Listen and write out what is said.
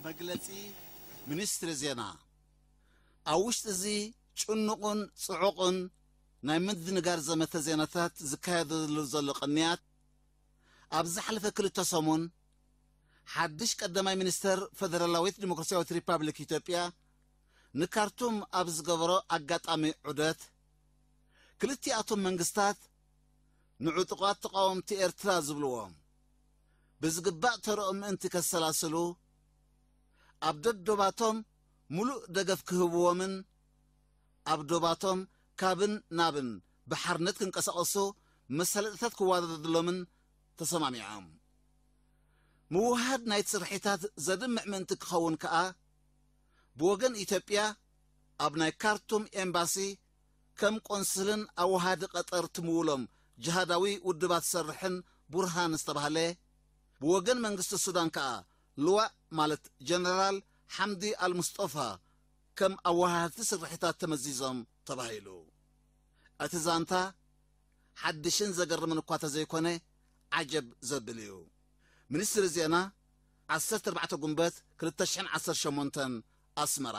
መግለጺ ሚኒስትሪ ዜና። ኣብ ውሽጢ እዚ ጭኑቕን ጽዑቕን ናይ ምድንጋር ዘመተ ዜናታት ዝካየደሉ ዘሎ ቅንያት፣ ኣብ ዝሓለፈ ክልተ ሰሙን ሓድሽ ቀዳማይ ሚኒስተር ፈደራላዊት ዲሞክራሲያዊት ሪፓብሊክ ኢትዮጵያ ንካርቱም ኣብ ዝገበሮ ኣጋጣሚ ዑደት፣ ክልቲኣቶም መንግስታት ንዕጡቓት ተቓወምቲ ኤርትራ ዝብልዎም ብዝግባእ ተረኦም ምእንቲ ከሰላስሉ፣ ኣብ ደዶባቶም ምሉእ ደገፍ ክህብዎምን ኣብ ዶባቶም ካብን ናብን ብሓርነት ክንቀሳቐሱ መሳለጥታት ክወዳደድሎምን ተሰማሚዖም። ምውሃድ ናይቲ ስርሒታት ዘድምዕ ምእንቲ ክኸውን ከኣ፣ ብወገን ኢትዮጵያ ኣብ ናይ ካርቱም ኤምባሲ ከም ቆንስልን ኣወሃዲ ቀጠር ትምውሎም ጅሃዳዊ ውድባት ዝሰርሕን ቡርሃን ዝተባህለ፣ ብወገን መንግስቲ ሱዳን ከኣ ልዋእ ማለት ጀነራል ሓምዲ ኣልሙስጦፋ ከም ኣወሃህድቲ ስርሒታት ተመዚዞም ተባሂሉ። እቲ ዛንታ ሓድሽን ዘገርምን እኳ ተዘይኮነ፣ ዓጀብ ዘብል እዩ። ሚኒስትሪ ዜና፣ ዓሰርተ ኣርባዕተ ጉንበት ክልተ ሽሕን ዓሰርተ ሸሞንተን፣ ኣስመራ።